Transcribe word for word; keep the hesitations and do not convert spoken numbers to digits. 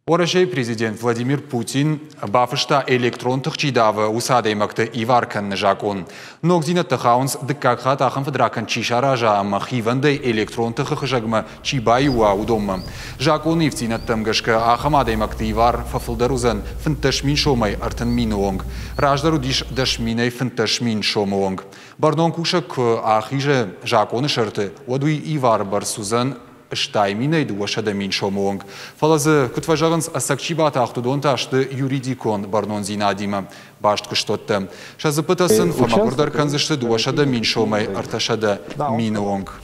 Уӕрӕсейы президент Владимир Путин бафыста, электрон тых чи давы, уыцы адӕймӕгты ивар кӕныны закъон. Ногдзинӕдтӕ хауынц, дыккаг хатт ахӕм фыдракӕнд чи сараза ӕмӕ хивӕндӕй электрон тыхы хызӕгмӕ чи баиу уа, уыдонмӕ. Закъоны ивддзинӕдтӕм гӕсгӕ ахӕм адӕймӕгты ивар фӕфылдӕр уыдзӕн фынддӕс мин сомӕй ӕртын мины онг. Раздӕр уыдис дӕс минӕй фынддӕс мин сомы онг. Бӕрнон кусӕг куы ахизы закъоны сӕрты, уӕд уый ивары бӕрц уыдзӕн стай минӕй дыууӕсӕдӕ мин сомы онг. Фӕлӕ дзы, куыд фӕзӕгъынц, ӕцӕг чи батахт, уыдон та сты юридикон бӕрнондзинадимӕ баст куыстуӕттӕ. Сӕ дзыппытӕ сын фӕмӕгуырдӕр кӕндзысты дыууӕсӕдӕ мин сомӕй ӕртӕсӕдӕ мины онг.